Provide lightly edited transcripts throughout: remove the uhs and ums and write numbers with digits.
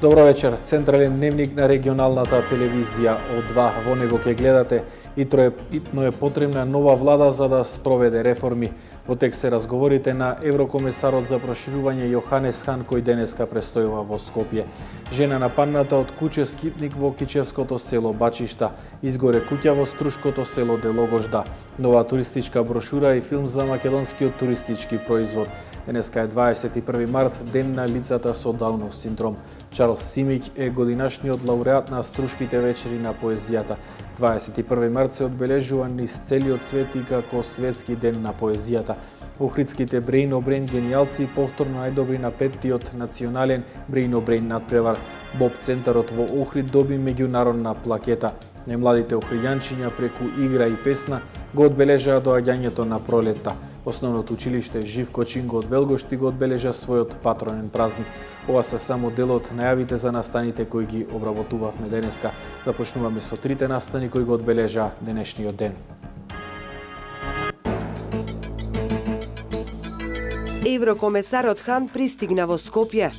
Добро вечер. Централен дневник на регионалната телевизија од 2. Во него ќе гледате итно е потребна нова влада за да спроведе реформи. Во текст се разговорите на еврокомесарот за проширување Јоханес Хан кој денеска престојува во Скопје. Жена нападната од куќе скитник во Кичевското село Бачишта. Изгоре куќа во Струшкото село Делогожда. Нова туристичка брошура и филм за македонскиот туристички производ. Денеска е 21 март, ден на лицата со Даунов синдром. Чарлс Симиќ е годинашниот лауреат на Струшките вечери на поезијата. 21 март се одбележува низ целиот свет и како светски ден на поезијата. Охридските Brain генијалци повторно најдобри на 5-тиот национален Brain надпревар. Боб центарот во Охрид доби меѓународна плакета. Најмладите охријанчиња преку игра и песна го одбележаа доаѓањето на пролетта. Основното училиште Живко Чинго од Велгошти го одбележа својот патронен празник. Ова се само дел од најавите за настаните кои ги обработувавме денеска. Започнуваме со трите настани кои го одбележаа денешниот ден. Еврокомесарот Хан пристигна во Скопје.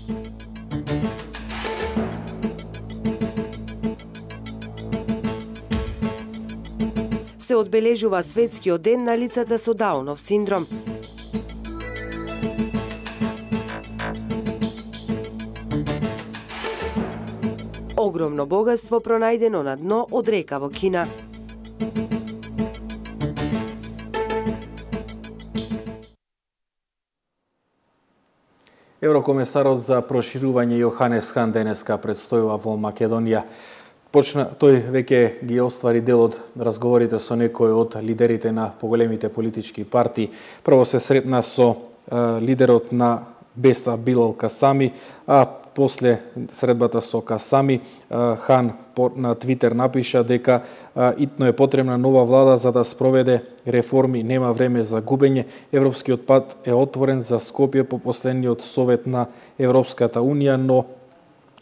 Се одбележува светскиот ден на лицата со Даунов синдром. Огромно богатство пронајдено на дно од река во Кина. Еврокомесарот за проширување Јоханес Хан денеска предстојува во Македонија. Тој веќе ги оствари дел од разговорите со некои од лидерите на поголемите политички партии. Прво се сретна со лидерот на Беса Билал Касами, а после средбата со Касами, Хан на Твитер напиша дека итно е потребна нова влада за да спроведе реформи, нема време за губење. Европскиот пат е отворен за Скопје по последниот совет на Европската Унија, но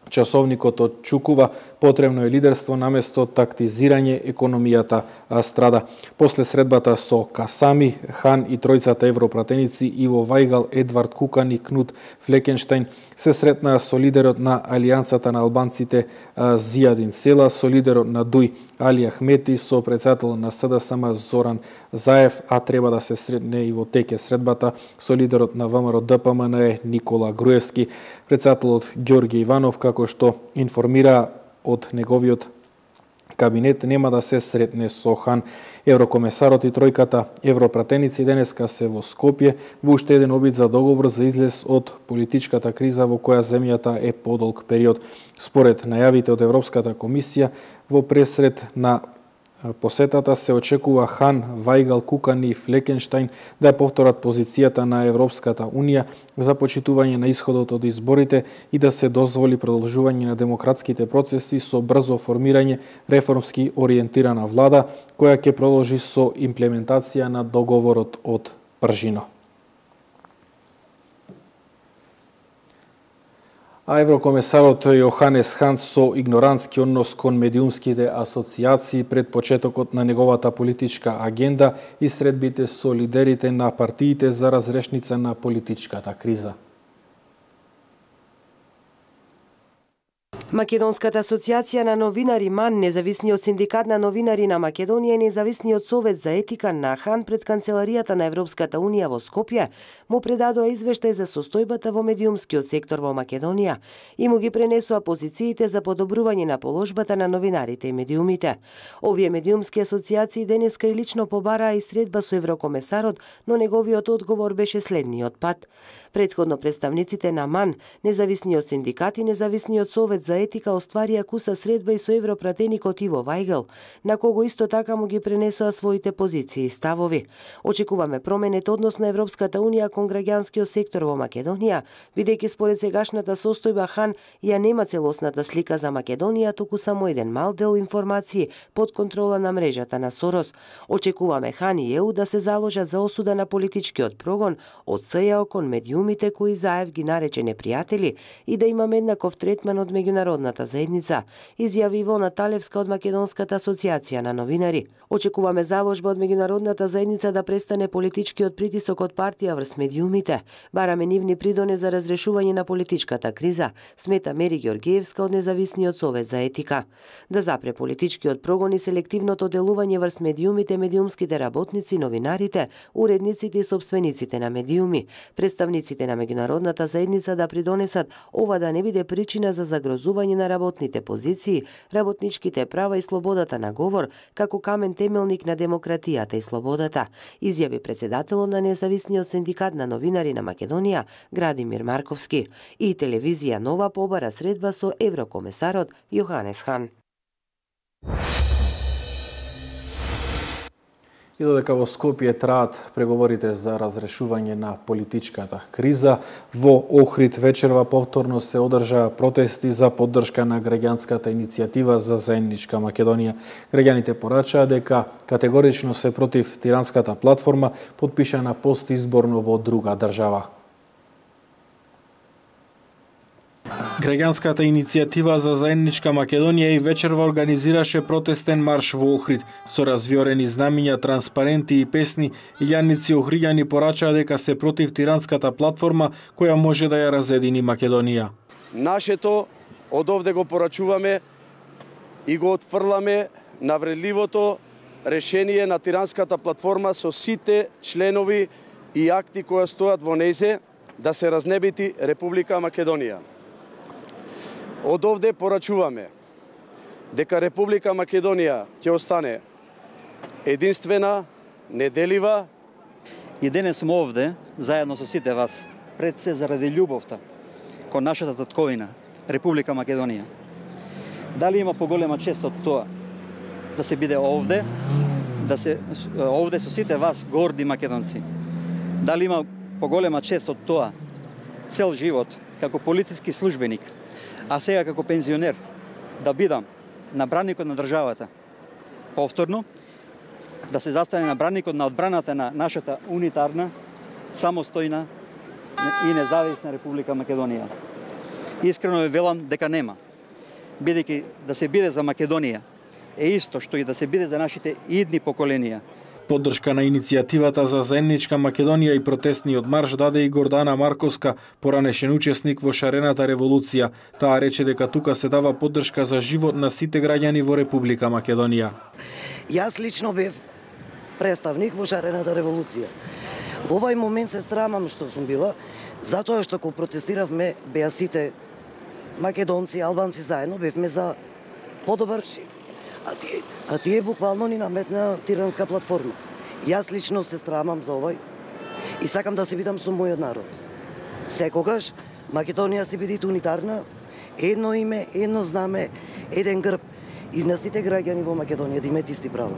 часовникот отчукува потребно е лидерство наместо тактизирање, економијата страда. После средбата со Касами, Хан и тројцата европратеници Иво Вајгал, Едвард Кукан и Кнут Флекенштајн се сретнаа со лидерот на Алијансата на албанците Зијадин Села, со лидерот на ДУИ Али Ахмети, со председателот на СДСМ Зоран Заев, а треба да се сретне и во теке средбата со лидерот на ВМРО ДПМН Никола Груевски. Председателот Ѓорѓе Иванов, како што информира од неговиот кабинет, нема да се сретне со Хан. Еврокомесарот и тројката европратеници денеска се во Скопје во уште еден обид за договор за излез од политичката криза во која земјата е подолг период. Според најавите од Европската комисија, во пресред на посетата се очекува Хан, Вајгал, Кукан и Флекенштајн да повторат позицијата на Европската Унија за почитување на исходот од изборите и да се дозволи продолжување на демократските процеси со брзо формирање реформски ориентирана влада, која ќе продолжи со имплементација на договорот од Пржино. А еврокомесарот Јоханес Хан со игнорантски однос кон медиумските асоциации пред почетокот на неговата политичка агенда и средбите со лидерите на партиите за разрешница на политичката криза. Македонската асоцијација на новинари МАН, Независниот синдикат на новинари на Македонија и Независниот совет за етика на Хан пред канцеларијата на Европската Унија во Скопје му предадоа извештај за состојбата во медиумскиот сектор во Македонија и му ги пренесоа позициите за подобрување на положбата на новинарите и медиумите. Овие медиумски асоциации денеска и лично побараа и средба со еврокомесарот, но неговиот одговор беше следниот пат. Претходно представниците на МАН, Независниот синдикат и Независниот совет за етика остварија куса средба и со европратеникот Иво Вајгал, на кого исто така му ги пренесоа своите позиции и ставови. Очекуваме променет однос на Европската Унија кон граѓанскиот сектор во Македонија, бидејќи според сегашната состојба Хан ја нема целосната слика за Македонија, туку само еден мал дел информации под контрола на мрежата на Сорос. Очекуваме Хан и ЕУ да се заложат за осуда на политичкиот прогон од СЈО кон медиумите кои Заев ги нарече непријатели и да имаме еднаков третман од меѓународните меѓународната заедница, изјави Ивона Талевска од Македонската асоциација на новинари. Очекуваме заложба од меѓународната заедница да престане политичкиот притисок од партија врз медиумите. Бараме нивни придоне за разрешување на политичката криза, смета Мери Ѓоргиевска од Независниот совет за етика. Да запре политичкиот прогон и селективното делување врз медиумите, медиумските работници, новинарите, уредниците и собствениците на медиуми, представниците на меѓународната заедница да придонесат ова да не биде причина за загрозување на работните позиции, работничките права и слободата на говор, како камен темелник на демократијата и слободата, изјави председателот на Независниот синдикат на новинари на Македонија, Градимир Марковски. И телевизија Нова побара средба со еврокомесарот Јоханес Хан. И додека во Скопје траат преговорите за разрешување на политичката криза, во Охрид вечерва повторно се одржаа протести за поддршка на граѓанската иницијатива за заедничка Македонија. Граѓаните порачаа дека категорично се против тиранската платформа, потпишана постизборно во друга држава. Граѓанската иницијатива за заедничка Македонија и вечерва организираше протестен марш во Охрид со развиорени знамиња, транспаренти и песни. Илјаници охриѓани порачаа дека се против тиранската платформа која може да ја разедини Македонија. Нашето од овде го порачуваме и го отфрламе навредливото решение на тиранската платформа со сите членови и акти кои стојат во нејзе да се разнебити Република Македонија. Од овде порачуваме дека Република Македонија ќе остане единствена, неделива. И денес сум овде, заедно со сите вас, пред се заради љубовта кон нашата татковина, Република Македонија. Дали има поголема чест од тоа да се биде овде, овде со сите вас, горди македонци? Дали има поголема чест од тоа цел живот, како полициски службеник, а сега како пензионер, да бидам на браникот на државата, повторно, да се застане на браникот на одбраната на нашата унитарна, самостојна и независна Република Македонија. Искрено ве велам дека нема. Бидејќи да се биде за Македонија е исто што и да се биде за нашите идни поколенија. Поддршка на иницијативата за заедничка Македонија и протестниот марш даде и Гордана Марковска, поранешен учесник во шарената револуција. Таа рече дека тука се дава поддршка за живот на сите граѓани во Република Македонија. Јас лично бев представник во шарената револуција. Во овај момент се срамам што сум била, затоа што кога протестиравме беа сите македонци, албанци заедно, бевме за подобар живот. А тие буквално ни наметна тиранска платформа. Јас лично се срамам за овај и сакам да се бидам со мојот народ. Секогаш Македонија се биде унитарна, едно име, едно знаме, еден грб и на сите граѓани во Македонија да имаат исти права.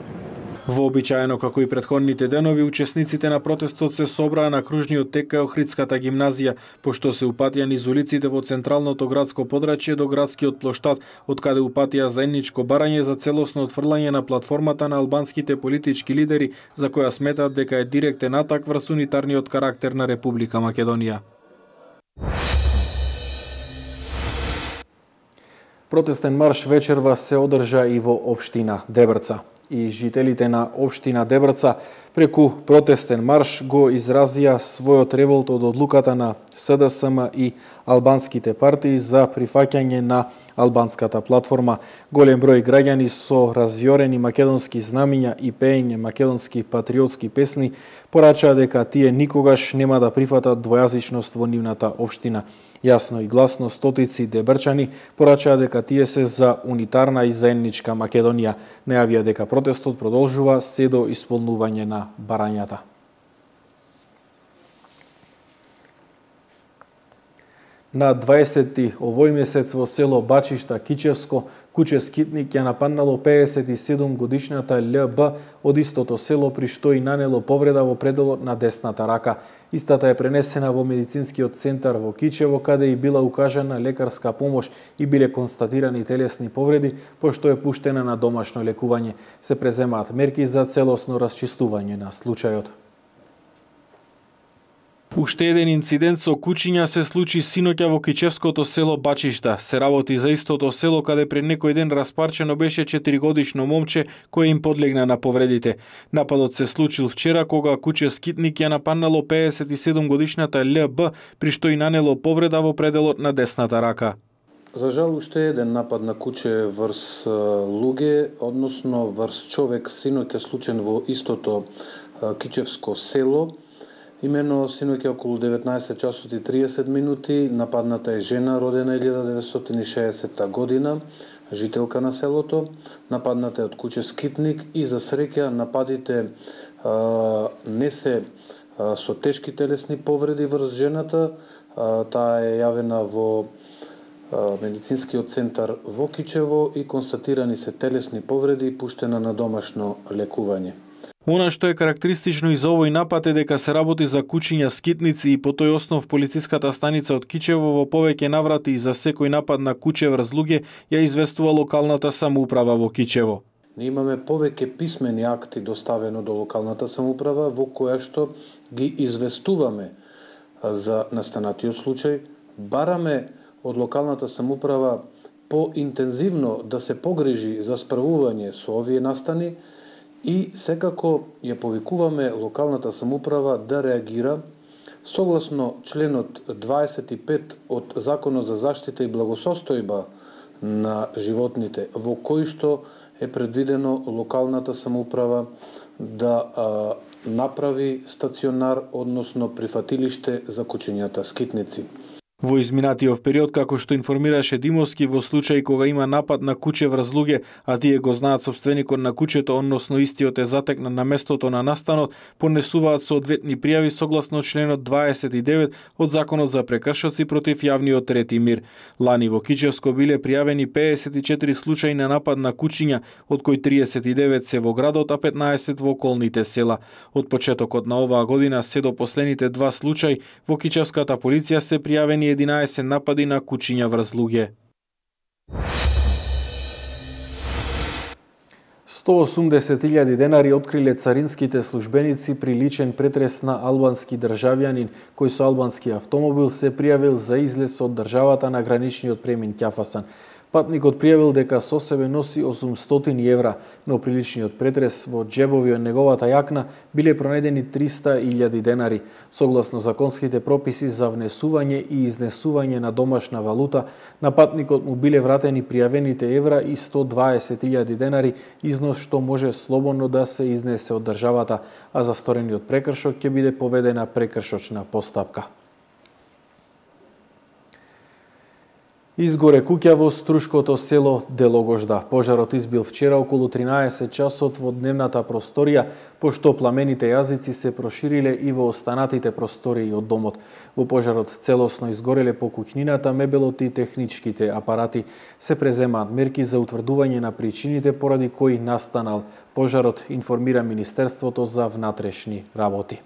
Вообичаено како и претходните денови, учесниците на протестот се собраа на кружниот тек кај Охридската гимназија, пошто се упатија низ улиците во централното градско подрачје до градскиот плоштад, од каде упатија заедничко барање за целосно отфрлање на платформата на албанските политички лидери, за која сметат дека е директен атак врз унитарниот карактер на Република Македонија. Протестен марш вечерва се одржа и во општина Дебрца. И жителите на општина Дебрца преку протестен марш го изразија својот револт од одлуката на СДСМ и албанските партии за прифаќање на албанската платформа. Голем број граѓани со развиорени македонски знамиња и пеење македонски патриотски песни порачаа дека тие никогаш нема да прифатат двојазичност во нивната општина. Јасно и гласно стотици дебрчани порачаа дека тие се за унитарна и заедничка Македонија. Најавија дека протестот продолжува се до исполнување на барањата. На 20 овој месец во село Бачишта, Кичевско, куче скитник ја нападнало 57 годишната ЛБ од истото село, при што и нанело повреда во пределот на десната рака. Истата е пренесена во медицинскиот центар во Кичево, каде и била укажана лекарска помош и биле констатирани телесни повреди, пошто е пуштена на домашно лекување. Се преземаат мерки за целосно расчистување на случајот. Уште еден инцидент со кучиња се случи синоќа во кичевското село Бачишта. Се работи за истото село каде пред некој ден распарчено беше 4-годишно момче кое им подлегна на повредите. Нападот се случил вчера кога куче скитник ја нападнало 57-годишната ЛБ, при што и нанело повреда во пределот на десната рака. За жал, уште еден напад на куче врз луѓе, односно врз човек, синоќа случен во истото кичевско село. Имено синоќа околу 19 часот и 30 минути, нападната е жена родена 1960 година, жителка на селото. Нападната е од куче скитник и за среќа нападите не се со тешки телесни повреди врз жената. Таа е јавена во медицинскиот центар во Кичево и констатирани се телесни повреди и пуштена на домашно лекување. Она што е карактеристично и за овој напад е дека се работи за кучиња скитници и по тој основ полициската станица од Кичево во повеќе наврати и за секој напад на куче врз луѓе ја известува локалната самоуправа во Кичево. Ние имаме повеќе писмени акти доставено до локалната самоуправа во која што ги известуваме за настанатиот случај, бараме од локалната самоуправа поинтензивно да се погрижи за справување со овие настани и секако ја повикуваме локалната самоуправа да реагира согласно членот 25 од Законот за заштита и благосостојба на животните, во кој што е предвидено локалната самоуправа да направи стационар, односно прифатилиште за кучињата скитници. Во изминатиот период, како што информираше Димовски, во случај кога има напад на куче врз луѓе, а тие го знаат сопственикот на кучето, односно истиот е затекнат на местото на настанот, понесуваат соодветни пријави согласно членот 29 од Законот за прекршоци против јавниот ред и мир. Лани во Кичевско биле пријавени 54 случаи на напад на кучиња, од кои 39 се во градот, а 15 во околните села. Од почетокот на оваа година се до последните 2 случаи во Кичевската полиција се пријавени 11 напади на кучиња врз луѓе. 180.000 денари откриле царинските службеници при личен претрес на албански државјанин кој со албански автомобил се пријавил за излез од државата на граничниот премин Ќафасан. Патникот пријавил дека со себе носи 800 евра, но при личниот претрес во џебови од неговата јакна биле пронајдени 300.000 денари. Согласно законските прописи за внесување и изнесување на домашна валута, на патникот му биле вратени пријавените евра и 120.000 денари, износ што може слободно да се изнесе од државата, а за сторениот прекршок ќе биде поведена прекршочна постапка. Изгоре куќа во струшкото село Делогожда. Пожарот избил вчера околу 13 часот во дневната просторија, пошто пламените јазици се прошириле и во останатите простории од домот. Во пожарот целосно изгореле по куќнината, мебелот и техничките апарати. Се преземаат мерки за утврдување на причините поради кои настанал пожарот, информира Министерството за внатрешни работи.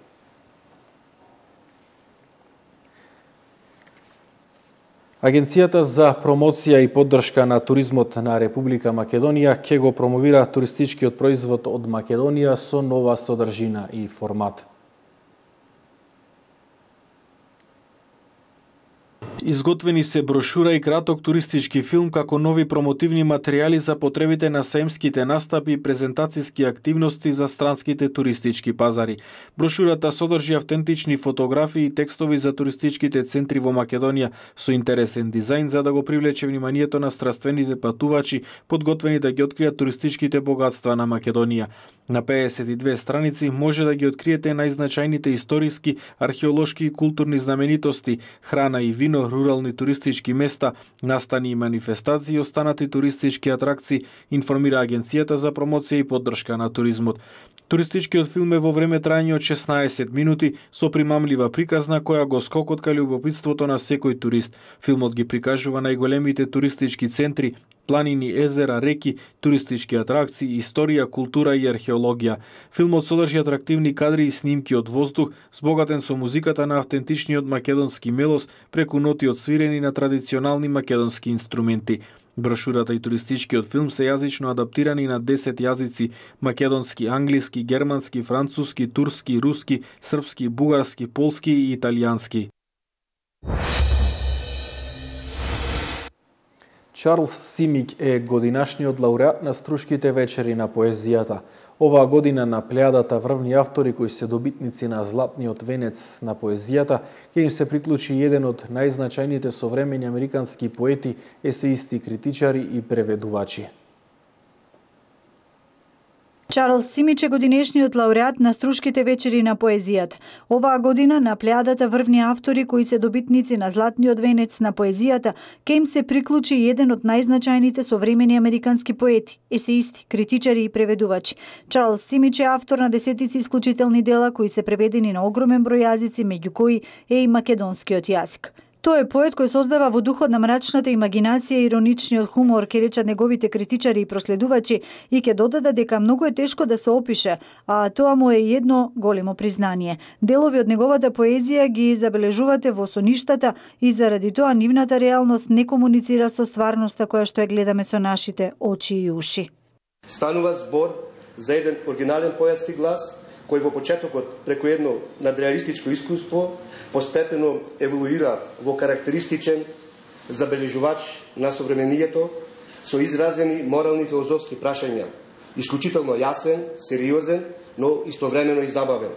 Агенцијата за промоција и поддршка на туризмот на Република Македонија ќе го промовира туристичкиот производ од Македонија со нова содржина и формат. Изготвени се брошура и краток туристички филм како нови промотивни материјали за потребите на саемските настапи и презентацијски активности за странските туристички пазари. Брошурата содржи автентични фотографии и текстови за туристичките центри во Македонија со интересен дизајн за да го привлече вниманието на страствените патувачи, подготвени да ги откријат туристичките богатства на Македонија. На 52 страници може да ги откриете најзначајните историски, археолошки и културни знаменитости, храна и вино, рурални туристички места, настани и манифестации и останати туристички атракции, информира Агенцијата за промоција и поддршка на туризмот. Туристичкиот филм е во време трајање од 16 минути со примамлива приказна која го скокотка љубопитството на секој турист. Филмот ги прикажува најголемите туристички центри, планини, езера, реки, туристички атракции, историја, култура и археологија. Филмот содржи атрактивни кадри и снимки од воздух, збогатен со музиката на автентичниот македонски мелос преку ноти одсвирени на традиционални македонски инструменти. Брошурата и туристичкиот филм се јазично адаптирани на 10 јазици: македонски, англиски, германски, француски, турски, руски, српски, бугарски, полски и италијански. Чарлс Симиќ е годинашниот лауреат на Струшките вечери на поезијата. Оваа година на плејадата врвни автори кои се добитници на Златниот венец на поезијата ќе им се приклучи еден од најзначајните современи американски поети, есеисти, критичари и преведувачи. Чарлс Симиќ е годинешниот лауреат на Струшките вечери на поезијата. Оваа година на плејадата врвни автори кои се добитници на Златниот венец на поезијата ќе им се приклучи еден од најзначајните современи американски поети, есеисти, критичари и преведувачи. Чарлс Симиќ е автор на десетици исклучителни дела кои се преведени на огромен број јазици, меѓу кои е и македонскиот јазик. Тој е поет кој создава во духот на мрачната имагинација и ироничниот хумор, ке речат неговите критичари и проследувачи, и ќе додадат дека многу е тешко да се опише, а тоа му е едно големо признание. Делови од неговата поезија ги забележувате во соништата и заради тоа нивната реалност не комуницира со стварноста која што ја гледаме со нашите очи и уши. Станува збор за еден оригинален поетски глас кој во почетокот преку едно надреалистичко искуство постепено еволуира во карактеристичен забележувач на современието со изразени морални филозофски прашања, исклучително јасен, сериозен, но истовремено и забавен.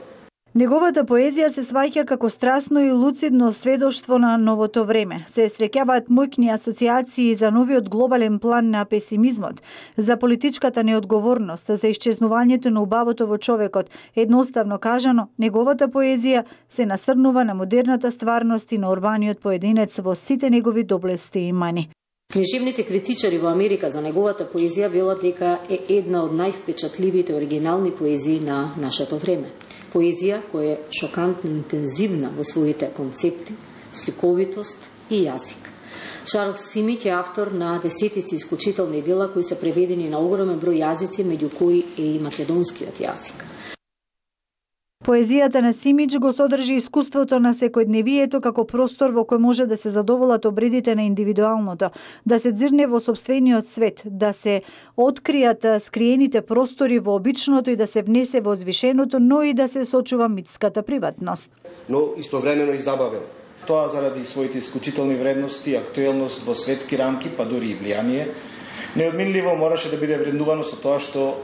Неговата поезија се сваќа како страстно и луцидно сведоштво на новото време. Се среќаваат моќни асоциации за новиот глобален план на песимизмот, за политичката неодговорност, за исчезнувањето на убавото во човекот. Едноставно кажано, неговата поезија се насрнува на модерната стварност и на урбаниот поединец во сите негови доблести и мани. Книжевните критичари во Америка за неговата поезија велат дека е една од највпечатливите оригинални поезии на нашето време. Поезија која е шокантно интензивна во своите концепти, сликовитост и јазик. Чарлс Симиќ е автор на десетици исклучителни дела кои се преведени на огромен број јазици, меѓу кои е и македонскиот јазик. Поезијата на Симиќ го содржи искуството на секојдневието како простор во кој може да се задоволат обредите на индивидуалното, да се дзирне во сопствениот свет, да се откријат скриените простори во обичното и да се внесе во звишеното, но и да се сочува митската приватност. Но истовремено и забавен. Тоа заради своите исклучителни вредности, актуелност во светски рамки, па дури и влијание, неодминливо мораше да биде вреднувано со тоа што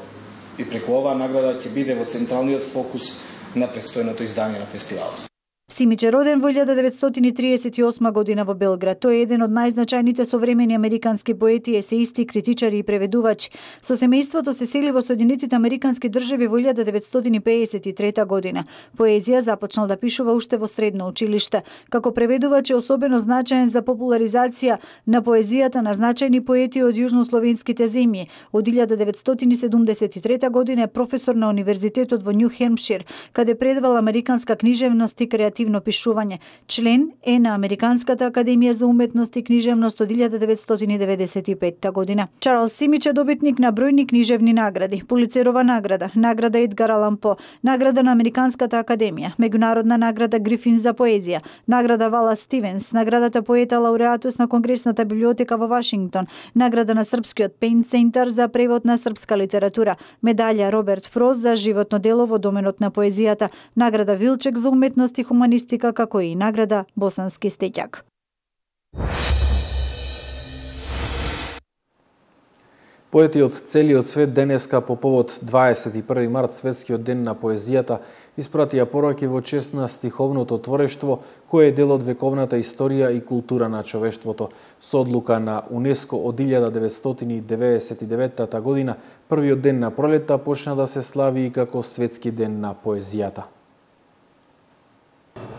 и преку оваа награда ќе биде во централниот фокус на предстојното издание на фестивалот. Симиќ е роден во 1938 година во Белград. Тој е еден од најзначајните современи американски поети, есеисти, критичари и преведувачи. Со семејството се сели во Соединетите американски држави во 1953 година. Поезија започнал да пишува уште во средно училиште. Како преведувач е особено значаен за популаризација на поезијата на значајни поети од јужнословенските земји. Од 1973 година е професор на Универзитетот во Њу Хемпшир, каде предавал американска книжевност и креативно пишување. Член е на Американската академија за уметност и книжевност од 1995 година. Чарлс Симиќ е добитник на бројни книжевни награди: Пулицерова награда, награда Едгар Алан По, награда на Американската академија, меѓународна награда Грифин за поезија, награда Вала Стивенс, наградата поета лауреатус на Конгресната библиотека во Вашингтон, награда на Српскиот Пейн Центар за превод на српска литература, медалја Роберт Фрост за животно дело во доменот на поезијата, награда Вилчек за уметност и хуманистика, како и награда Босански стеќак. Поети од целиот свет денеска по повод 21 март, светскиот ден на поезијата, испратија пораки во чест на стиховното творештво, кое е дел од вековната историја и култура на човештвото. Со одлука на УНЕСКО од 1999 година, првиот ден на пролетта почна да се слави и како светски ден на поезијата.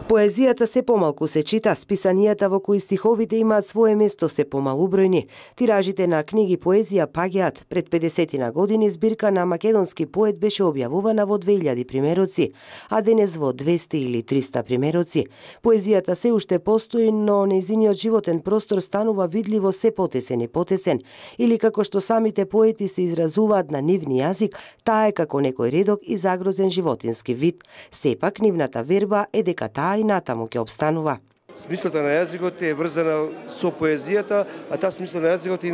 Поезијата се помалку се чита, списанијата во кои стиховите имаат свое место се помалубројни. Тиражите на книги поезија паѓаат. Пред 50 години збирка на македонски поет беше објавувана во 2000 примероци, а денес во 200 или 300 примероци. Поезијата се уште постои, но нејзиниот животен простор станува видливо се потесен и потесен, или како што самите поети се изразуваат на нивни јазик, таа е како некој редок и загрозен животински вид. Сепак нивната верба е дека таа и натаму ќе обстанува. Смислата на јазикот е врзана со поезијата, а таа смисла на јазикот е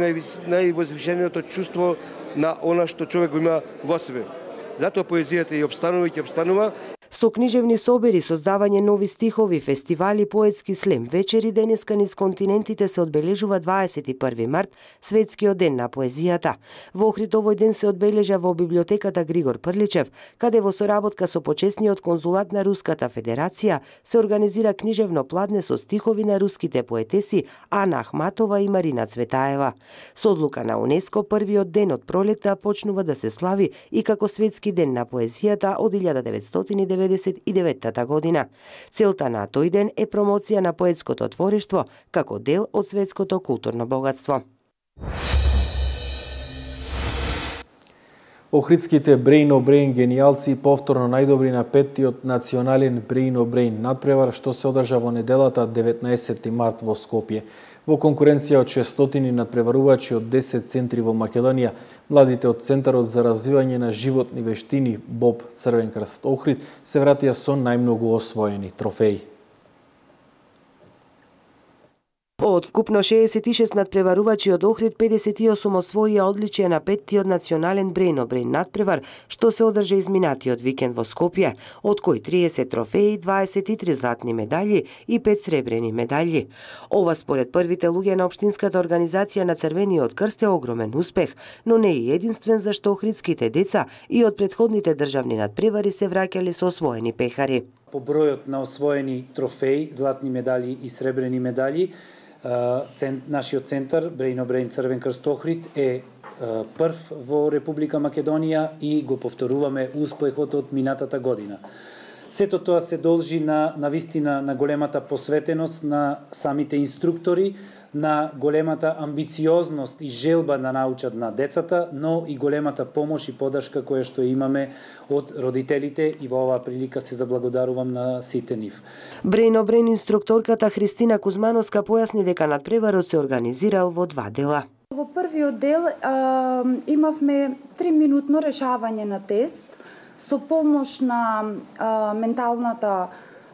највозвишеното чувство на она што човек го има во себе. Затоа поезијата и обстанува и ќе обстанува. Со книжевни собери, создавање нови стихови, фестивали, поетски слем, вечери денеска низ континентите се одбележува 21 март, Светскиот ден на поезијата. Во Охрид овој ден се одбележа во библиотеката Григор Прличев, каде во соработка со почесниот конзулат на Руската Федерација се организира книжевно пладне со стихови на руските поетеси Ана Ахматова и Марина Цветаева. Со одлука на УНЕСКО, првиот ден од пролетта почнува да се слави и како Светски ден на поезијата од 1999 година. Целта на тој ден е промоција на поетското творештво како дел од светското културно богатство. Охридските Brain o Brain генијалци повторно најдобри на 5-тиот национален Brain o Brain надпревар што се одржа во неделата 19 март во Скопје. Во конкуренција од 600 надпреварувачи од 10 центри во Македонија, младите од Центарот за развивање на животни вештини БОБ Црвен крст Охрид се вратија со најмногу освоени трофеи. Од вкупно 66 надпреварувачи од Охрид, 58 освоија одличија на 5-тиот национален Brain o Brain надпревар, што се одржа изминатиот викенд во Скопје, од кои 30 трофеи, 23 златни медаљи и 5 сребрени медаљи. Ова според првите луѓе на општинската организација на Црвениот крст е огромен успех, но не е единствен зашто охридските деца и од претходните државни надпревари се враќале со освоени пехари. По бројот на освоени трофеи, златни медаљи и сребрени медаљи, нашиот центар Brain o Brain Црвен крст Охрид е прв во Република Македонија и го повторуваме успехот од минатата година. Сето тоа се должи на вистина на големата посветеност на самите инструктори, на големата амбициозност и желба да научат на децата, но и големата помош и подршка која што имаме од родителите и во оваа прилика се заблагодарувам на сите нив. Brain o Brain инструкторката Христина Кузмановска појасни дека надпреварот се организирал во 2 дела. Во првиот дел имавме 3-минутно решавање на тест со помош на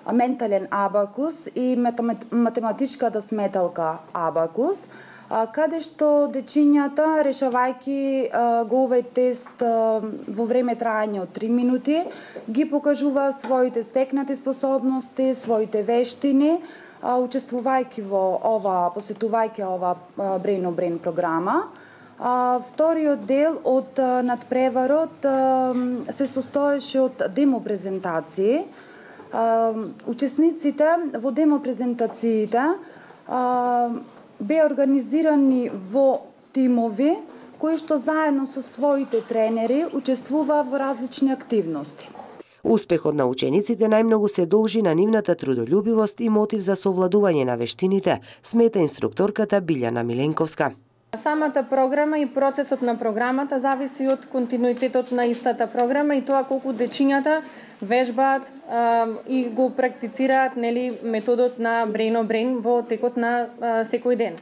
ментален абакус и математичката сметалка абакус, каде што дечињата, решавајќи го овој тест во време трајање од 3 минути, ги покажува своите стекнати способности, своите вештини, учествувајќи во ова, посетувајќи ова Brain o Brain програма. Вториот дел од надпреварот се состоеше од демо презентации. Учесниците во демо презентациите беа организирани во тимови кои што заедно со своите тренери учествуваа во различни активности. Успехот на учениците најмногу се должи на нивната трудолюбивост и мотив за совладување на вештините, смета инструкторката Билјана Миленковска. Самата програма и процесот на програмата зависи од континуитетот на истата програма и тоа колку дечињата вежбаат и го практицираат методот на Brain o Brain во текот на секој ден.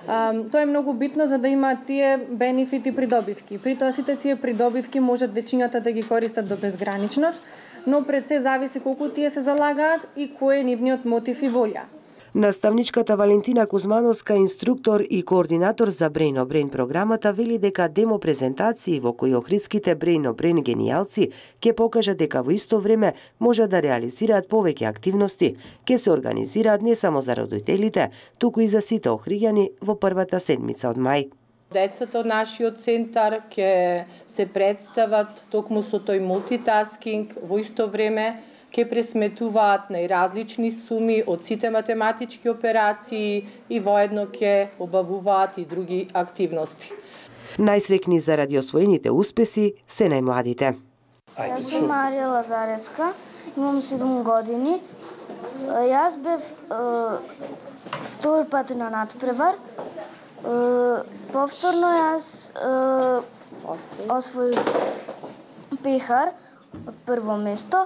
Тоа е многу битно за да имаат тие бенефити придобивки. При тоа сите тие придобивки можат дечињата да ги користат до безграничност, но пред се зависи колку тие се залагаат и кој е нивниот мотив и волја. Наставничката Валентина Кузмановска, инструктор и координатор за Brain o Brain програмата, вели дека демо презентации во кои охридските Brain o Brain генијалци ќе покажат дека во исто време може да реализираат повеќе активности, ќе се организираат не само за родителите, туку и за сите охриѓани во првата седмица од мај. Децата од нашиот центар ќе се представат токму со тој мултитаскинг, во исто време ќе пресметуваат најразлични суми од сите математички операции и воедно ќе обавуваат и други активности. Најсрекни заради освоените успеси се најмладите. Јас сум Марија Лазареска, имам 7 години. Јас бев втор пат на надпревар. Повторно јас освоив пехар од прво место.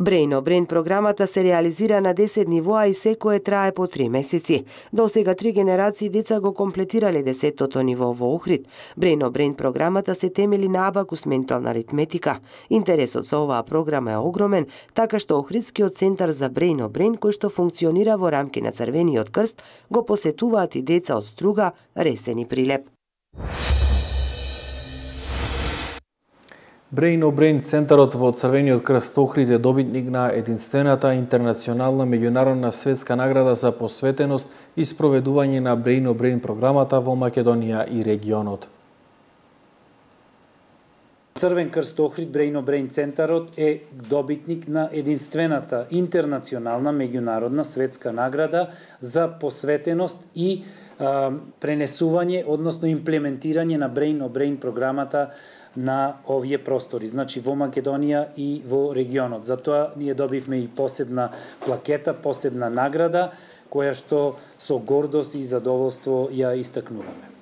Brain on Brain програмата се реализира на 10 нивоа и секое трае по 3 месеци. До сега 3 генерации деца го комплетирале 10-тото ниво во Охрид. Brain on Brain програмата се темели на абакус ментална аритметика. Интересот со оваа програма е огромен, така што Охридскиот центар за Brain on Brain, кој што функционира во рамки на Црвениот крст, го посетуваат и деца од Струга, Ресен и Прилеп. Brain on Brain центарот во Црвениот крст Охрид е добитник на единствената интернационална меѓународна светска награда за посветеност и спроведување на Brain on Brain програмата во Македонија и регионот. Црвен крст Охрид Brain on Brain центарот е добитник на единствената интернационална меѓународна светска награда за посветеност и пренесување, односно имплементирање на Brain on Brain програмата на овие простори, значи во Македонија и во регионот. Затоа ние добивме и посебна плакета, посебна награда, која што со гордост и задоволство ја истакнуваме.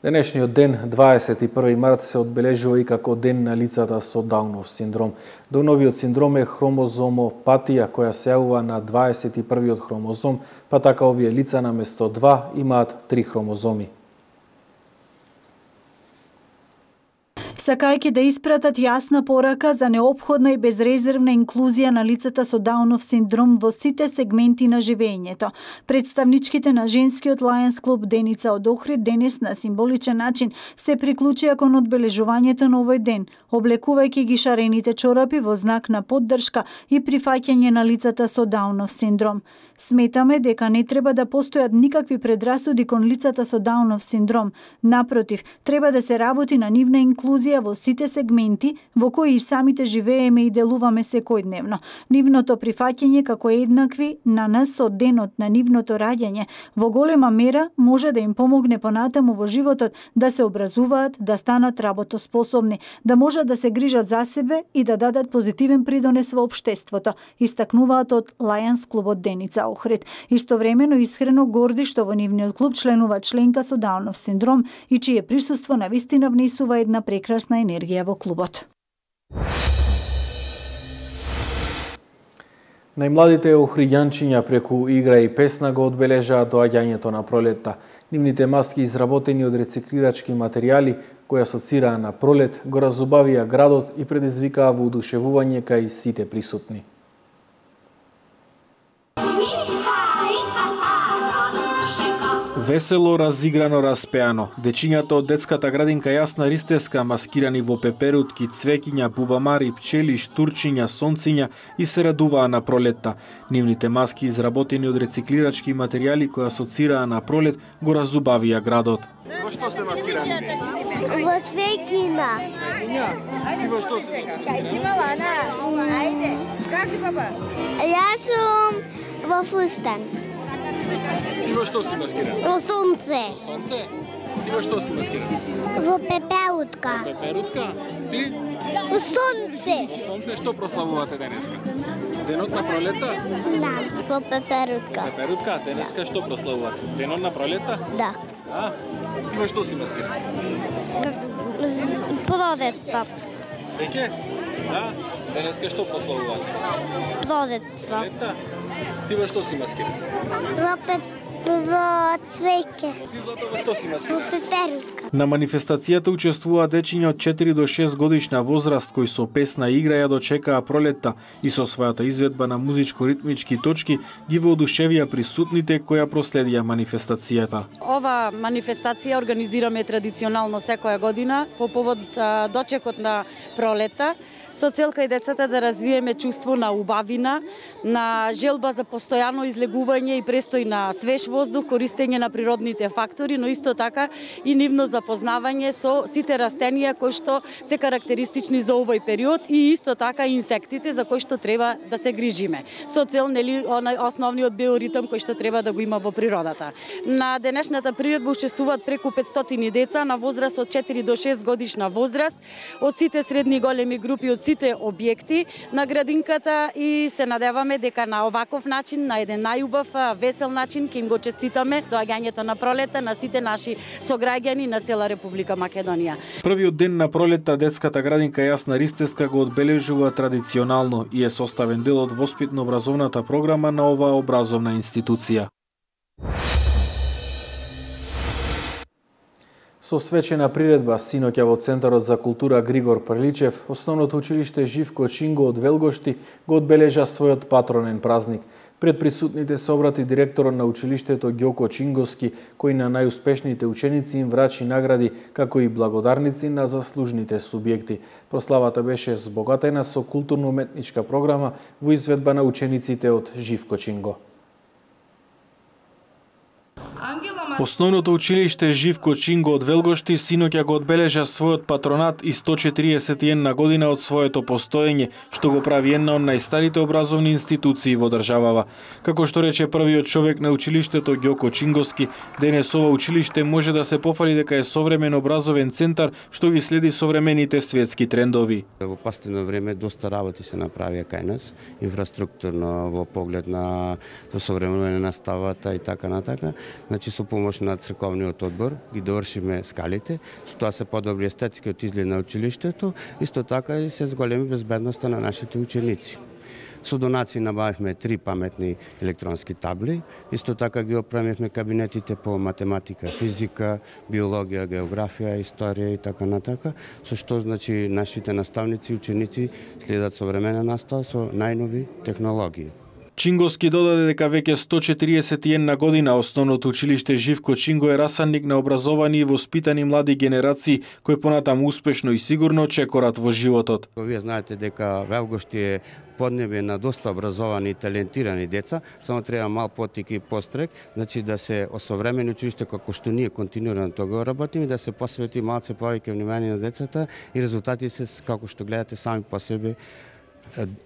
Денешниот ден, 21 март, се одбележува и како ден на лицата со Даунов синдром. Дауновиот синдром е хромозомопатија која се јавува на 21-иот хромозом, па така овие лица наместо 2 имаат 3 хромозоми. Сакајќи да испратат јасна порака за неопходна и безрезервна инклузија на лицата со Даунов синдром во сите сегменти на живеењето. Представничките на женскиот Lions клуб Деница од Охрид денес на символичен начин се приклучија кон одбележувањето на овој ден, облекувајќи ги шарените чорапи во знак на поддршка и прифаќање на лицата со Даунов синдром. Сметаме дека не треба да постојат никакви предрасуди кон лицата со Даунов синдром. Напротив, треба да се работи на нивна инклузија во сите сегменти во кои и самите живееме и делуваме секојдневно. Нивното прифаќање како еднакви на нас од денот на нивното раѓање во голема мера може да им помогне понатаму во животот да се образуваат, да станат работоспособни, да можат да се грижат за себе и да дадат позитивен придонес во општеството, истакнуваат од Lions клубот Деница Охрид. Истовремено искрено горди што во нивниот клуб членува членка со Даунов синдром и чие присуство навистина внесува една прекрасна енергија во клубот. Најмладите охриѓанчиња преку игра и песна го одбележаат доаѓањето на пролетта. Нивните маски изработени од рециклирачки материјали кои асоцираа на пролет го разубавија градот и предизвикаа воодушевување кај сите присутни. Весело, разиграно, распеано. Дечињата од детската градинка Јасна Ристевска, маскирани во пеперутки, цвеќиња, бубамари, пчели, штурчиња, сонциња и се радуваа на пролетта. Нивните маски, изработени од рециклирачки материјали кои асоцираа на пролет, го разубавија градот. Во што сте маскирани? Во цвеќина. Цвеќиња? Ти во што сте маскирани? Ајде. Как ти, папа? Јас сум во фустан. Ти во што си маскиран? Во сонце. Во сонце? Ти во што си маскиран? Во пеперутка. Во пеперутка? Ти? Во сонце. Во сонце што прославувате денеска? Денот на пролета? Да, во пеперутка. Пеперутка? Денеска што прославувате? Денот на пролета? Да. А? Ти во што си маскиран? Пролетта. Цвеќе? Да? Денеска што прославувате? Пролетта. Пролета? Ти во што си маскиран? Во цвеќе. Ти, Злато, во што си маскиран? Во пеперутка. На манифестацијата учествуваа дечиња од 4 до 6 годишна возраст кои со песна и игра ја дочекаа пролетта и со својата изведба на музичко-ритмички точки ги воодушевија присутните кои ја проследија манифестацијата. Ова манифестација организираме традиционално секоја година по повод дочекот на пролетта, со цел кај децата да развиеме чувство на убавина, на желба за постојано излегување и престој на свеж воздух, користење на природните фактори, но исто така и нивно запознавање со сите растенија кои што се карактеристични за овој период и исто така инсектите за кои што треба да се грижиме. Со цел основниот биоритм кој што треба да го има во природата. На денешната приредба учествуваат преку 500 деца на возраст од 4 до 6 годишна возраст, од сите средни големи групи, од сите објекти на градинката и се надеваме надеваме дека на оваков начин, на еден најубав, весел начин, ќе им го честитаме доаѓањето на пролета на сите наши сограѓани на цела Република Македонија. Првиот ден на пролета детската градинка Јасна Ристевска го одбележува традиционално и е составен дел од воспитно-образовната програма на оваа образовна институција. Со свечена приредба синоќа во Центарот за култура Григор Прличев, основното училиште Живко Чинго од Велгошти го одбележа својот патронен празник. Пред присутните се обрати директорот на училиштето Ѓоко Чинговски, кој на најуспешните ученици им врачи награди, како и благодарници на заслужните субјекти. Прославата беше збогатена со културно-уметничка програма во изведба на учениците од Живко Чинго. Основното училиште Живко Чинго од Велгошти синоќа го одбележа својот патронат и 141 година од своето постоење, што го прави една од најстарите образовни институции во државава. Како што рече првиот човек на училиштето Ѓоко Чинговски, денес ова училиште може да се пофали дека е современ образовен центар што ги следи современите светски трендови. Во последно време доста работи се направија кај нас, инфраструктурно во поглед на современување на наставата и така натака. Значи со помош на црковниот одбор ги довршиме скалите, со тоа се подобри естетскиот изглед на училиштето, исто така и се зголеми безбедноста на нашите ученици. Со донации набавивме 3 паметни електронски табли, исто така ги оправивме кабинетите по математика, физика, биологија, географија, историја и така натака, со што значи нашите наставници и ученици следат современа настава со најнови технологии. Чинговски додаде дека веќе 141 година основното училиште Живко Чинго е расанник на образовани и воспитани млади генерации кои понатаму успешно и сигурно чекорат во животот. Вие знаете дека Велгошти е поднебе на доста образовани и талентирани деца, само треба мал потик и пострек, значи да се осовремени училиште како што ние континуирано тоа работиме, да се посвети малце повеќе внимание на децата и резултати се како што гледате сами по себе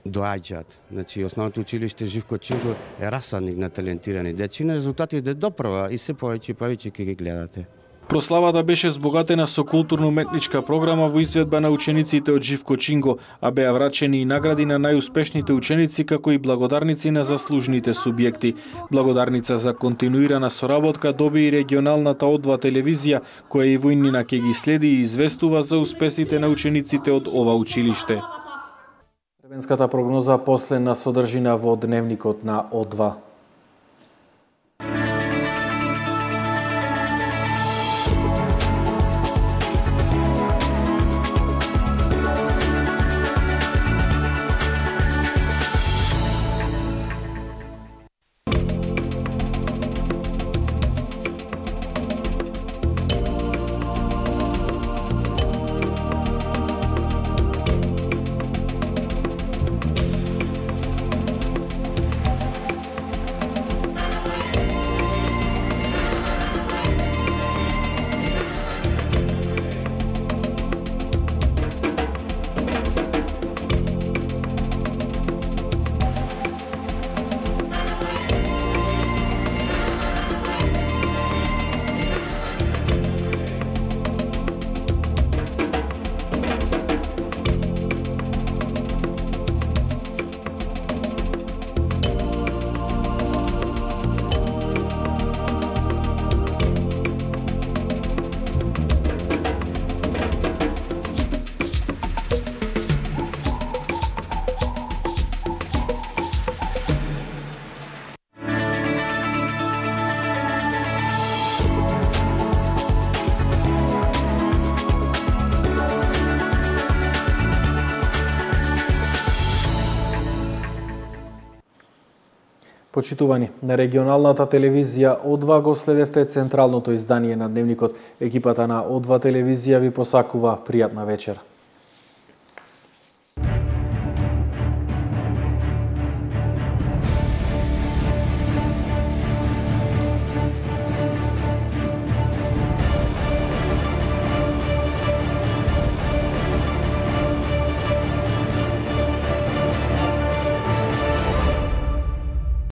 доаѓаат. Значи, основното училиште Живко Чинго е расадник на талентирани дечина, резултатите доправа и се повеќе и повеќе ќе ги гледате. Прославата беше збогатена со културно-уметничка програма во изведба на учениците од Живко Чинго, а беа врачени и награди на најуспешните ученици, како и благодарници на заслужните субјекти. Благодарница за континуирана соработка доби и регионалната О2 телевизија, која и војнина ќе ги следи и известува за успесите на учениците од ова училиште. Временската прогноза последна содржина во дневникот на О2. Почитувани, на регионалната телевизија О2 го следевте централното издание на Дневникот. Екипата на О2 телевизија ви посакува пријатна вечер.